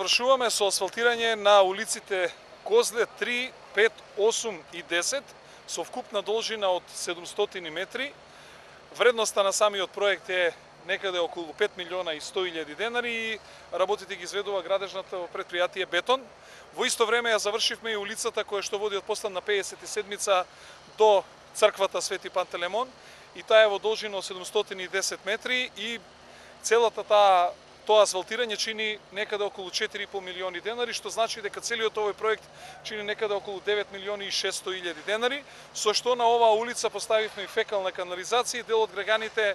завршуваме со асфалтирање на улиците Козле 3, 5, 8 и 10 со вкупна должина од 700 метри. Вредноста на самиот проект е некаде околу 5 милиона и 100.000 денари и работите ги изведува градежното предпријатие Бетон. Во исто време ја завршивме и улицата која што води од последна 57-ца до црквата Свети Пантелеймон и таа е во должина од 710 метри и целата тоа асфалтирање чини некаде околу 4,5 милиони денари, што значи дека целиот овој проект чини некаде околу 9 милиони и 600.000 денари, со што на оваа улица поставивме и фекална канализација и дел од граѓаните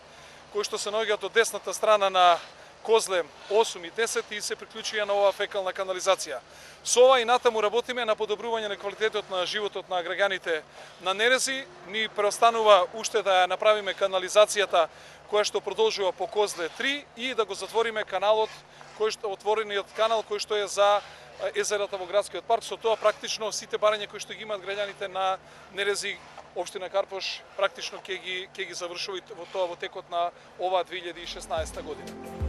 кои што се наоѓаат од десната страна на Козле 8 и 10 и се приклучија на оваа фекална канализација. Со ова и натаму работиме на подобрување на квалитетот на животот на граѓаните на Нерези. Ни преостанува уште да ја направиме канализацијата која што продолжува по Козле 3 и да го затвориме каналот, отворениот канал кој што е за езерата во градскиот парк. Со тоа практично сите барања кои што ги имаат граѓаните на Нерези, општина Карпош, практично ќе ги завршува во текот на оваа 2016 година.